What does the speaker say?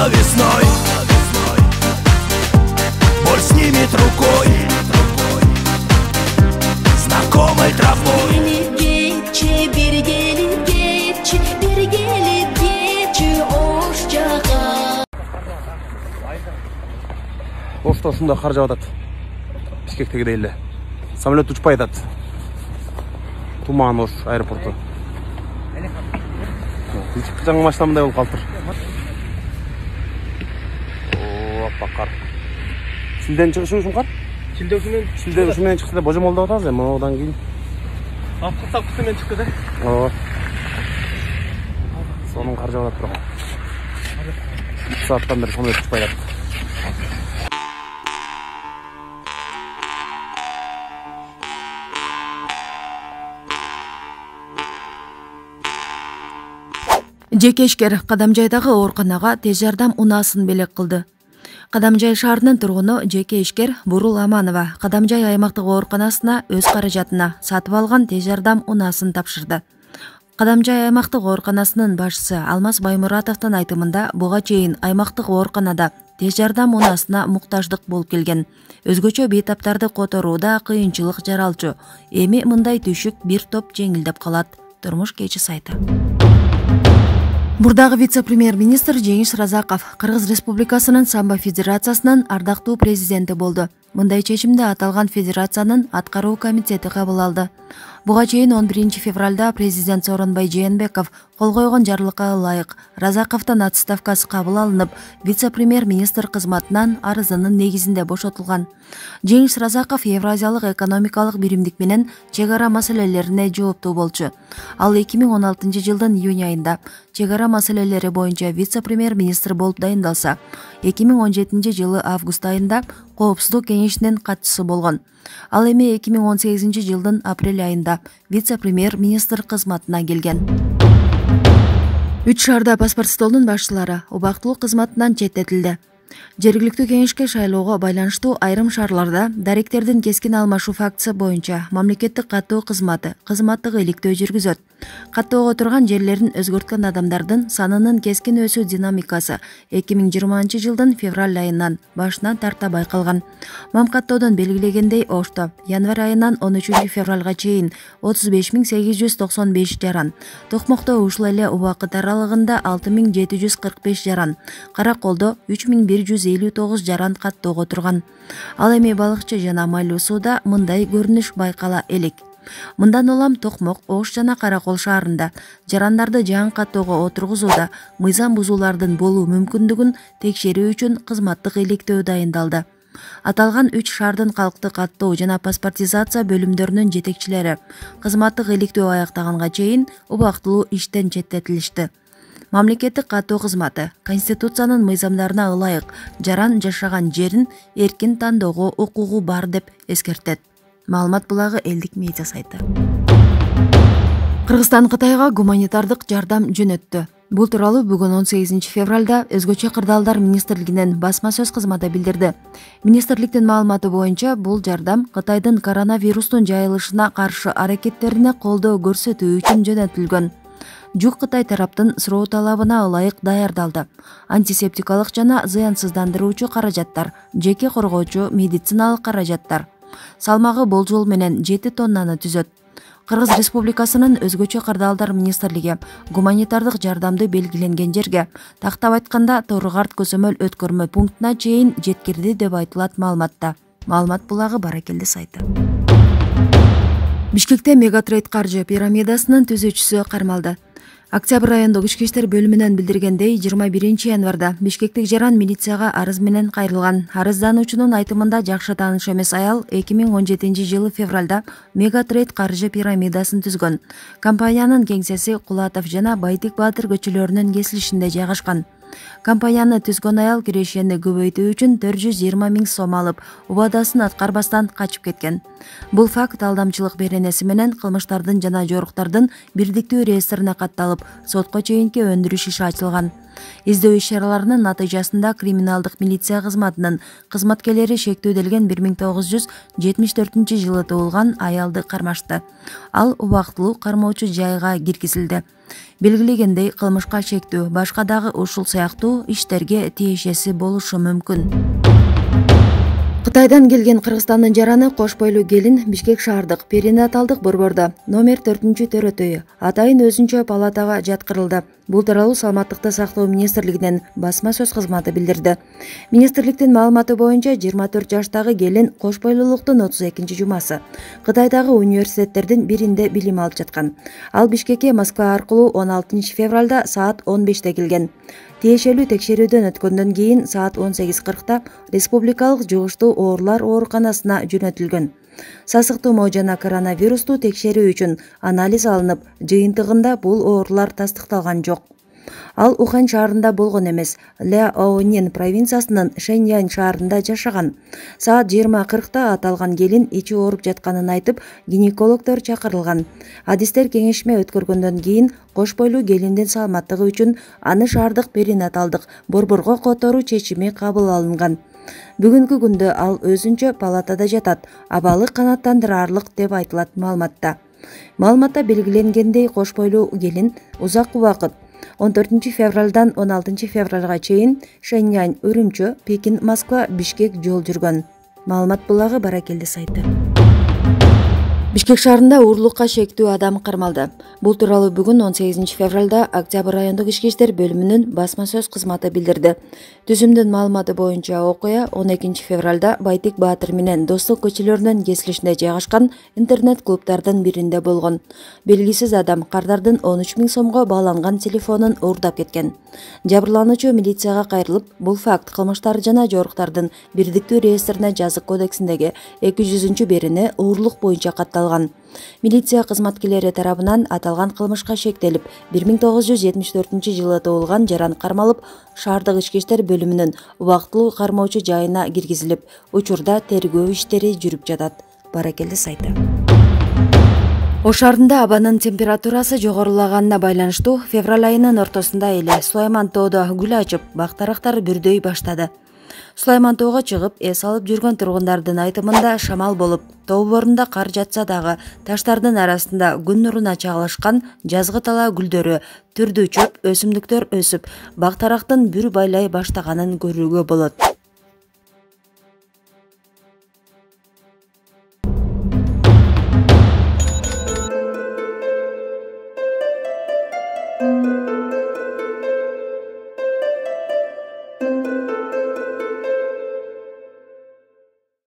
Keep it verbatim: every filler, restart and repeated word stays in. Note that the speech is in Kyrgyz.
весной. Боль снимет рукой знакомой травой. Кетчи, бир келип кетчи, бир келип кетчи ош жака. Ошто ушундай кар жаап атат. Бишкектегидей эле. Самолет учпай атат. Туман Ош аэропорту. Жаңы машина мындай болуп калыптыр. О, аппак кар. Шилден чыгышы ушун кар? Шилде ушу менен Шилде ушу менен чыкты да божомолдоп атабыз эми одан кийин. Апкы сапкысы менен чыкты да. Ооба. Сонун кар жаап атат бирок. үч сааттан бери самолет учпай атат. Жеке ишкер Кадамжайдагы ооруканага тез жардам унаасын белек кылды. Кадамжай шаарынын тургуну жеке ишкер Бурул Аманова Кадамжай аймактык ооруканасына өз каражатына сатып алган тез жардам унаасын тапшырды. Кадамжай аймактык ооруканасынын башчысы Алмаз Баймуратовдун айтымында буга чейин аймактык ооруканада тез жардам унаасына муктаждык болуп келген. Өзгөчө бейтаптарды которууда кыйынчылык жаралчу. Эми мындай түшүк бир топ жеңилдеп калат. Турмуш кечи сайты. Мурдагы вице-премьер-министр Жеңиш Разаков Кыргыз Республикасынын самбо федерациясынын ардактуу президенти болду. Мындай чечимди аталган федерациянын аткаруу комитети кабыл алды. Буга чейин он биринчи февралда президент Сооронбай Жээнбеков кол койгон жарлыкка ылайык Разаковдун отставкасы кабыл алынып, вице-премьер-министр кызматынан арызынын негизинде бошотулган. Жеңиш Разаков Евразиялык экономикалык биримдик менен чек ара маселелерине жооптуу болчу. Ал эки миң он алтынчы жылдын июнь айында чек ара маселелери боюнча вице-премьер-министр болуп дайындалса, эки миң он жетинчи жылы август айында Коопсуздук кеңешинин катчысы болгон. Ал эми эки миң он сегизинчи жылдын апрель айында вице-премьер-министр кызматына келген. Үч шаарда паспорт столунун башчылары убактылуу кызматынан четтетилди. Жергиликтүү кеңешке шайлоого байланыштуу айрым шаарларда даректердин кескин алмашуу фактысы боюнча мамлекеттик каттоо кызматы кызматтык иликтөө жүргүзөт. Каттоого турган жерлерин өзгөрткөн адамдардын санынын кескин өсүү динамикасы эки миң жыйырманчы жылдын февраль айынан башынан тарта байкалган. Мамкаттоодон белгилегендей, Ошто январь айынан он үчүнчү февралга чейин отуз беш миң сегиз жүз токсон беш жаран, Токмокто ушул эле убакыт аралыгында алты миң жети жүз кырк беш жаран, Караколдо үч миң бир жүз элүү тогуз жаран каттоого турган. Ал эми Балыкчы жана Майлуу сууда мындай көрүнүш байкала элек. Мындан улам Токмок, Ош жана Каракол шаарында жарандарды жаңы каттоого отургузууда мыйзам бузуулардын болуу мүмкүндүгүн текшерүү үчүн кызматтык иликтөө дайындалды. Аталган үч шаардын калктык каттоо жана паспортизация бөлүмдөрүнүн жетекчилери кызматтык иликтөө аяктаганга чейин убактылуу иштен четтетилишти. Мамлекеттик каттоо кызматы Конституциянын мыйзамдарына ылайык жаран жашаган жерин эркин тандоого укугу бар деп эскертет. Маалымат булагы элдик медиа сайты. Кыргызстан Кытайга гуманитардык жардам жөнөттү. Бул тууралуу бүгүн он сегизинчи февралда Өзгөчө кырдаалдар министрлигинин басма сөз кызматы билдирди. Министрликтин маалыматы боюнча бул жардам Кытайдын коронавирустун жайылышына каршы аракеттерине колдоо көрсөтүү үчүн жөнөтүлгөн. Жүк Кытай тараптын суроо талабына ылайык даярдалды. Антисептикалык жана зыянсыздандыруучу каражаттар, жеке коргоочу медициналык каражаттар. Салмагы болжол менен жети тоннаны түзөт. Кыргыз Республикасынын Өзгөчө кырдаалдар министрлиги гуманитардык жардамды белгиленген жерге, тактап айтканда Торгарт көзөмөл өткөрмө пунктуна чейин жеткирди деп айтылат маалыматта. Маалымат булагы Баракелди сайты. Бишкекте Мегатрейд каржы пирамидасынын түзүүчүсү кармалды. Октябрь райондук ички иштер бөлүмүнөн билдиргендей, жыйырма биринчи январда бишкектик жаран милицияга арыз менен кайрылган. Арыздануучунун айтымында жакшы тааныш эмес аял эки миң он жетинчи жылы февралда Мегатрейд каржы пирамидасын түзгөн. Компаниянын кеңсеси Кулатов жана Байтик Баатыр көчөлөрүнүн кесилишинде жайгашкан. Компанияны түзгөн аял кирешени көбөйтүү үчүн төрт жүз жыйырма миң сом алып, убадасын аткарбастан качып кеткен. Бул факт алдамчылык беренеси менен кылмыштардын жана жоруктардын бирдиктүү реестрине катталып, сотко чейинки өндүрүш иши ачылган. Издөө иш-чараларынын натыйжасында криминалдык милиция кызматынын кызматкерлери шектөөдөлгөн бир миң тогуз жүз жетимиш төртүнчү жылы туулган аялды кармашты. Ал убактылуу кармоочу жайга киргизилди. Белгилегендей, кылмышка шектөө башка дагы ушул сыяктуу иштерге тиешеси болушу мүмкүн. Кытайдан келген Кыргызстандын жараны кош бойлуу келин Бишкек шаардык перинаталдык борбордо номер төртүнчү төрөтөйү атайын өзүнчө палатага жаткырылды. Бул тууралуу Саламаттыкты сактоо министрлигинин басма сөз кызматы билдирди. Министрликтин маалыматы боюнча жыйырма төрт жаштагы келин кош бойлуулуктун отуз экинчи жумасы Кытайдагы университеттердин биринде билим алып жаткан. Ал Бишкекке Москва аркылуу он алтынчы февралда саат он беште келген. Тиешелүү текшерүүдөн өткөндөн кийин саат он сегиз кыркта республикалык жугуштуу оорулар ооруканасына жөнөтүлгөн. Сасыктуу жана коронавирусту текшерүү үчүн анализ алынып, жыйынтыгында бул оорулар тастыкталган жок. Ал Ухань шаарында болгон эмес, Ляонин провинциясынын Шэньянь шаарында жашаган. Саат жыйырма кыркта аталган келин ичи ооруп жатканын айтып, гинекологдор чакырылган. Адистер кеңешме өткөргөндөн кийин кош бойлуу келиндин саламаттыгы үчүн аны шаардык перинаталдык борборго которуу чечими кабыл алынган. Бүгүнкү күндө ал өзүнчө палатада жатат, абалы канааттандырарлык деп айтылат маалыматта. Маалыматта белгиленгендей, кош бойлуу келин узак убакыт он төртүнчү февралдан он алтынчы февралга чейин Шэньянь, Үрүмчү, Пекин, Москва, Бишкек жол жүргөн. Маалымат булагы Баракелди сайты. Бишкек шаарында уурулукка шектүү адам кармалды. Бул тууралуу бүгүн он сегизинчи февралда Октябрь райондук ички иштер бөлүмүнүн басма сөз кызматы билдирди. Түзүмдүн маалыматы боюнча окуя он экинчи февралда Байтек Баатыр менен Достук көчөлөрүнүн кесилишинде жайгашкан интернет-клубдардын биринде болгон. Белгисиз адам кардардын он үч миң сомго бааланган телефонун уурдап кеткен. Жабырлануучу милицияга кайрылып, бул факт кылмыштар жана жоруктардын бирдиктүү реестрине жазык кодексиндеги эки жүзүнчү берини уурулук боюнча катталган. Милиция кызматкерлери тарабынан аталган кылмышка шектелип, бир миң тогуз жүз жетимиш төртүнчү жылы туулган жаран кармалып, шаардык ички иштер бөлүмүнүн убактылуу кармоочу жайына киргизилип, учурда тергөө иштери жүрүп жатат. Баракелди сайты. Ош шаарында абанын температурасы жогорулаганына байланыштуу февраль айынын ортосунда эле Сулайман тоодо гүл ачып, бак-дарактар бүрдөй баштады. Сулайман тоого чыгып, эс алып жүргөн тургундардын айтымында шамал болуп, тоо борунда кар жатса дагы таштардын арасында күн нуруна чагылышкан жазгы тала гүлдөрү, түрдүү чөп, өсүмдүктөр өсүп, бак-дарактын бүр байлай баштаганын көрүүгө болот.